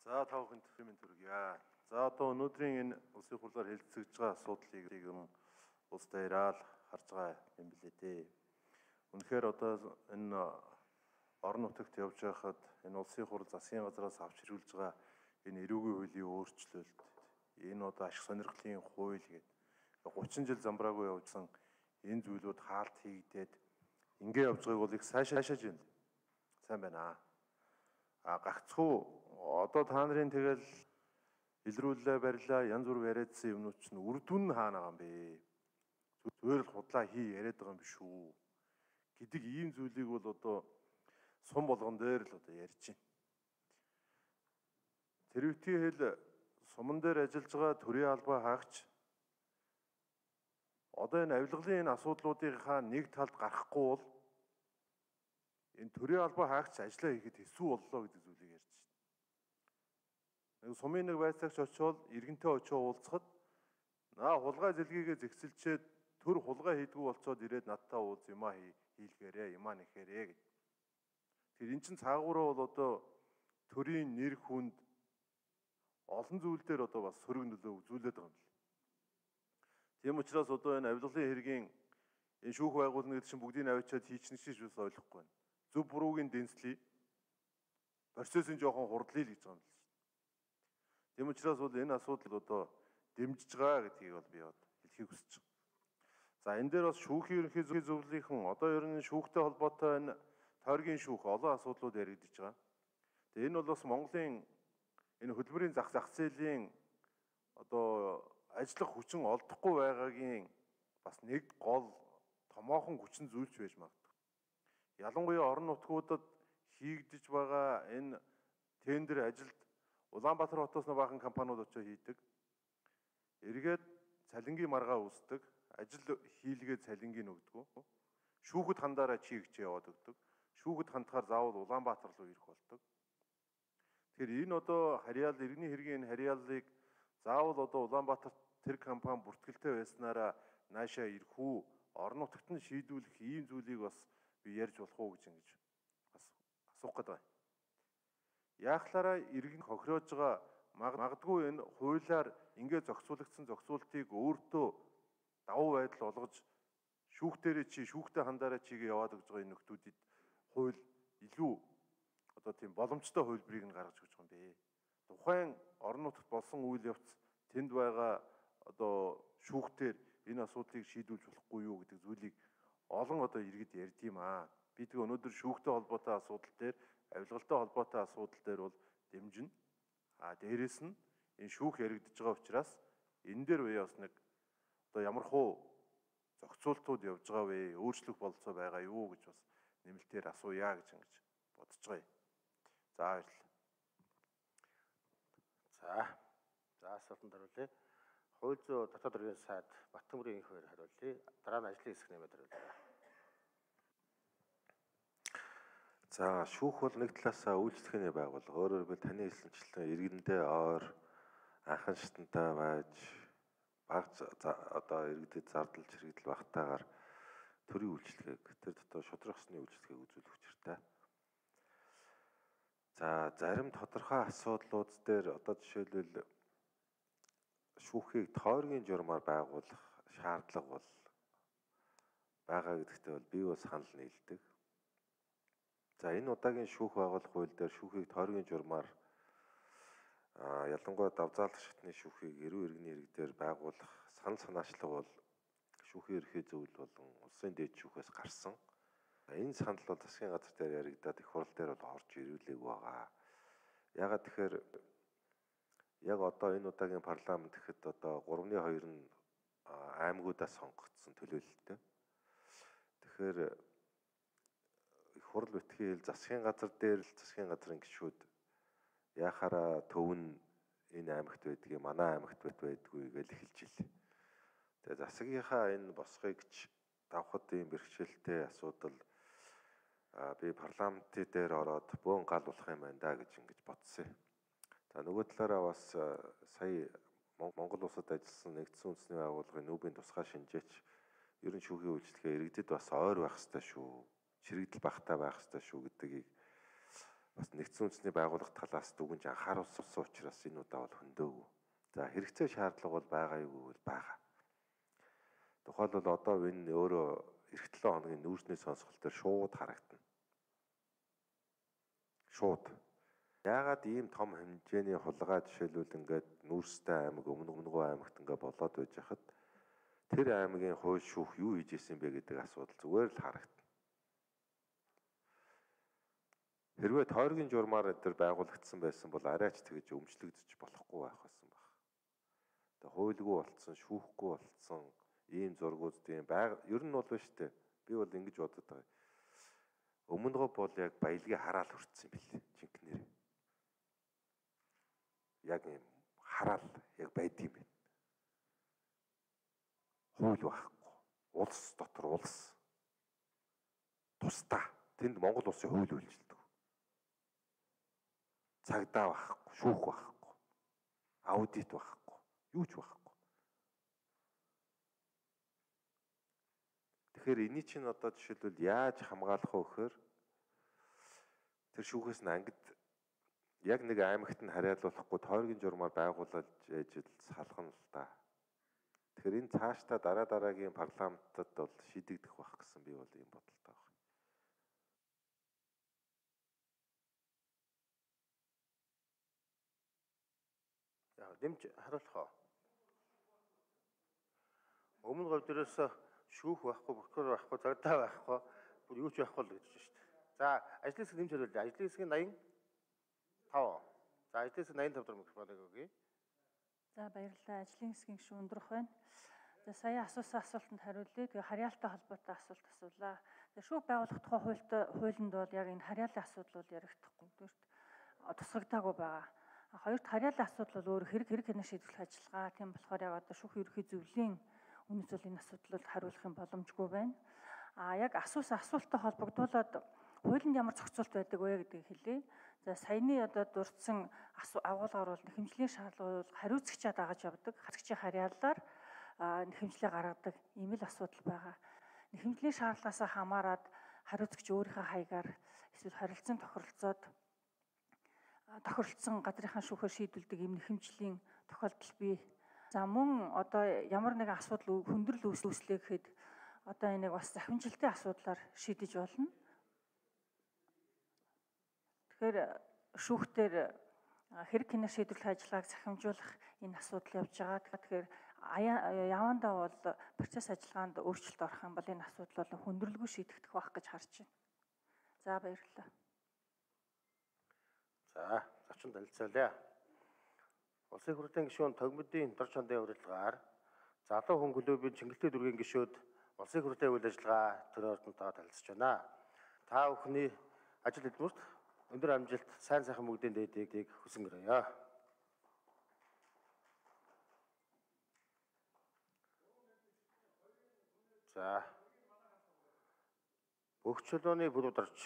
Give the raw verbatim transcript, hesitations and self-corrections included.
За та бүхэнд минь төргийа. За одоо өнөөдрийн энэ улсын хурлаар хэлэлцэж байгаа асуудлыг юм улс даяараа л харж байгаа юм билээ дээ. Үнэхээр одоо энэ орон нутагт явж байхад энэ улсын хурл засгийн газраас авч ирүүлж байгаа энэ эрүүгийн хуулийн өөрчлөлт, энэ одоо ашиг сонирхлын хууль гэдэг гучин жил замбраагүй явжсан энэ зүйлүүд хаалт хийгдээд ингэ явж байгааг бол их сайшааж байна. Сайн байна аа. А гагцхүү одоо та нарын тэгэл илрүүлээ барилаа янз бүр яриадсан юмнууд чинь үр дүн хаана байгаа юм бэ? Зүгээр л худлаа хий яриад байгаа юм биш үү гэдэг ийм зүйлийг бол одоо сум болгон дээр л одоо ярьж байна. Тэрвэтгийн хэл суман дээр ажиллаж байгаа төрийн албаа хаагч одоо энэ авилгалын энэ асуудлуудынхаа нэг талд гарахгүй бол энэ төрийн албаа хаагч ажиллаа хийхэд хэсүү боллоо гэдэг зүйлийг ярьж байна. Нэг сумын нэг байцаагч очивол иргэнтэй очиж уулзахад наа хулгай зэлгийгээ зэгцэлчээд төр хулгай хийдгүү болцоод ирээд надтай уулз юмаа хийлгээрээ юмаа нэхээрээ гэд. Тэр эн чин цаагаараа бол одоо төрийн нэр хүнд олон зүйл дээр одоо бас сөрөг нөлөө үзүүлээд байгаа юм л. Тийм учраас одоо энэ авилгалын хэргийн энэ шүүх байгуулна гэдэг чинь бүгдийг авчиад хийчихнэ гэж бас ойлгохгүй байна. Зөв буруугийн дэнслэе. Процессын жоохон хурдлъя л гэж байгаа юм л. Тийм учраас бол энэ асуудал одоо дэмжиж байгаа гэдгийг бол би одоо хэлхийг хүсэж байна. За энэ дээр бас шүүхийн ерөнхий зөвлөлийнхэн одоо ер нь шүүхтэй холбоотой энэ тойргийн шүүх олон асуудлууд яригдж байгаа. Тэгээ энэ бол бас Монголын энэ хөдөлмөрийн зах зах зээлийн одоо ажиллах хүчин олдохгүй байгаагийн бас нэг гол томоохон хүчин зүйлч байж магадгүй. Ялангуяа орон нутгуудад хийгдэж байгаа энэ тендер ажилд Улаанбаатар хотоос нэг баахан компаниуд очиж хийдэг. Эргээд цалингийн маргаа үүсдэг. Ажил хийлгээд цалингийн өгдөг. Шүүхэд хандаараа чи гэж яваад өгдөг. Шүүхэд хандахаар заавал Улаанбаатар руу ирэх болдог. Тэгэхээр энэ одоо харьяал иргэний хэргийн харьяаллыг заавал одоо Улаанбаатарт тэр компани бүртгэлтэй байснараа наашаа ирэх үү? Орон нутагт нь шийдвүлэх ийм зүйлийг бас би ярьж болох уу гэж ингэж бас асуух гэдэг. Яахлаараа иргэн хохироож байгаа магадгүй энэ хуулиар ингээд зохицуулагдсан зохицуултыг өөртөө давуу байдал олгож шүүхтэрээ чи шүүхтэй хандаараа чигээ яваад өгж байгаа энэ нөхдүүдэд хууль илүү одоо тийм боломжтой хөлбрийг нь гаргаж өгч байгаа юм бэ. Тухайн орон нутагт болсон үйл явц тэнд байгаа одоо шүүхтэр энэ асуудлыг шийдүүлж болохгүй юу гэдэг зүйлийг олон одоо иргэд ярьд юм аа. Би тэг өнөөдөр шүүхтэй холбоотой асуудал дээр авилгалтай холбоотой асуудал дээр бол дэмжинэ. А дээрэс нь энэ шүүх яригдж байгаа учраас энэ дээр үе бас нэг одоо ямар хуу зохицуултууд явж байгаа вэ? Өөрчлөх болцоо байгаа юу гэж бас нэмэлтээр асууя гэж ингэж бодож байгаа юм. За баярлалаа. За. За асуултанд хариулъя. Хууль зүйн дотоод хэргийн сайд Баттамбарын инх хоёр хариулъя. Дараа нь ажлын хэсэг нэмээд хариулъя. За шүүх бол нэг талаасаа үйлчлэхний байгууллага. Өөрөөр хэлбэл таны хэлсэнчлэн иргэндээ ойр анхан шатантай байж баг одоо иргэдэд зардал чирэгдэл багтаагаар төрийн үйлчлэгийг тэр дотор шудрах ёсны үйлчлэгийг үзүүлэх учиртай. За зарим тодорхой асуудлууд дээр одоо жишээлбэл шүүхийг тойргийн журмаар байгуулах шаардлага бол байгаа гэдэгтээ бол би бас санал нийлдэг. За энэ удаагийн шүүх байгуулах хууль дээр шүүхийг тойргийн журмаар ялангуяа давзаалах шатны шүүхийг эрүү иргэний иргэдээр байгуулах санал санаачлага бол шүүхийн ерхий зөвлөл болон улсын дээд шүүхээс гарсан. Энэ санал бол засгийн газар дээр яригдаад их хурл дээр бол орж ирүүлээг байгаа. Ягаад тэгэхээр яг одоо энэ удаагийн парламент гэхэд одоо гуравны хоёр нь аймагуудаас сонгогдсон төлөөлөлттэй. Тэгэхээр их хурл битгий хэл засгийн газар дээр л засгийн газрын гишүүд яхаараа төв нь энэ аймагт байдгийг манай аймагт байдгүй гэж хэлж ил. Тэгээ засгийнхаа энэ босгыг ч давхад ийм бэрхшээлтэй асуудал би парламентын дээр ороод бөөн гал болох юм байна да гэж ингэж бодсон. За нөгөө талаараа бас сая Монгол улсад ажилласан нэгдсэн үндэсний байгууллагын нүүбийн тусгай шинжээч ерөн шүүхийн үйлчлэгээ иргэдэд бас ойр байх ёстой шүү. Чирэгдэл багтаа байх ёстой шүү гэдгийг бас нэгдсэн үндэсний байгууллага талаас дүгнж анхааруулсан учраас энэ удаа бол хөндөөгүй. За хэрэгцээ шаардлага бол байгаа юу гэвэл байгаа. Тухайлбал одоо энэ өөрөө эх долоо хоногийн нүүрсний сонсгол дээр шууд харагдана. Шууд. Яагаад ийм том хэмжээний хулгай жишээлбэл ингээд Нүүрстэй аймаг, Өмнө Өмнөгөө аймагт ингээд болоод байж хахад тэр аймгийн хууль шүүх юу хийж исэн бэ гэдэг асуудал зүгээр л харагдана. Хэрвээ тойргийн журмаар энэ байгуулагдсан байсан бол арайч тэгж өмчлөгдөж болохгүй байх байсан баг. Тэгээ хуульгүй болцсон, шүүхгүй болцсон ийм зургууд тийм байг ер нь бол биш үү? Би бол ингэж бодод байгаа. Өмнөгөө бол яг баялагийг хараал хүртсэн юм билээ. Жинхнэр. Яг юм хараал яг байдсан юм байна. Хууль байхгүй. Улс дотор улс. Тусдаа. Тэнд Монгол улсын хууль үйлчилдэг. Цагдаа байхгүй, шүүх байхгүй. Аудит байхгүй. Юу ч байхгүй. Тэгэхээр энийг чинь одоо жишээлбэл яаж хамгаалах вэ гэхээр тэр шүүхээс нь ангид яг нэг аймагт нь хариалуулахгүй тойргийн журмаар байгуулж ажил салхана л да. Тэгэхээр энэ цаашдаа дараа дараагийн парламентад бол шийдэгдэх байх гэсэн би бол ийм бодолтой байна. Яг дэмж харуулах уу? Өмнө говь дээрээс шүүх байхгүй, прокурор байхгүй, цагдаа байхгүй, бүр юу ч байхгүй л гэж байна шүү дээ. За, ажлын хэсэг нэмж хариулъя. Ажлын хэсгийн восемь тав. За, ажлын хэсэг восемь тав дахь микрофоныг өгье. За, баярлалаа. Ажлын хэсгийн гишүүн өндрөх байна. За, сая асуусан асуултанд хариулъя. Тэгээ харьяалтай холбоотой асуулт асуулаа. Тэгээ шүүх байгуулах тухай хуультай хуулинд бол яг энэ харьяалын асуудал бол ярихдаггүй. Тэгвэрт тусгагдаагүй байгаа. Хоёрт харьяалын асуудал бол өөр хэрэг хэрэг хянах шийдвэрлэх ажиллагаа. Тийм болохоор яг одоо шүүх ерөнхий зөвлөлийн үнэс бол энэ асуудлыг хариулах юм боломжгүй байна. А яг асуусан асуулттай холбогдуулаад хуулинд ямар зохицуулт байдаг вэ гэдгийг хэлье. За саяны одоо дурдсан агуулгаар бол нэхэмжлийн шаардлагыг хариуцагчаа дагаж явдаг. Харьцагчийн харьяалаар нэхэмжлээ гаргадаг ийм л асуудал байгаа. Нэхэмжлийн шаардлагаас хамаарат хариуцагч өөрийнхөө хаягаар эсвэл харилцан тохиролцоод тохиролцсон газрынхаа шүүхээр шийдвэрлэдэг ийм нэхэмжлийн тохиолдол бий. За мөн одоо ямар нэгэн асуудал хүндрэл үүслээ гэхэд одоо энийг бас захимжилтын асуудлаар шийдэж болно. Тэгэхээр шүүхтэр хэрэг хянах шийдвэрлэх ажиллагааг захимжуулах энэ асуудал явж байгаа. Тэгэхээр явандаа бол процесс ажиллагаанд өөрчлөлт орох юм бол энэ асуудал бол хүндрэлгүй шийдэгдэх байх гэж харж байна. За баярлалаа. За, зочин танилцуулъя. Улсын хурлын гишүүн Тогмодын дор чондын урилгаар залуу хүн клубын Чингэлтэй дүүргийн гишүүд улсын хурлын үйл ажиллагаа төр ордонтойгоо танилцж байна. Та бүхний ажил хөдөлмөрт өндөр амжилт, сайн сайхан бүгдийн дээдийг хүсэнгэрье. За. Бүх чулууны бүрүүд орж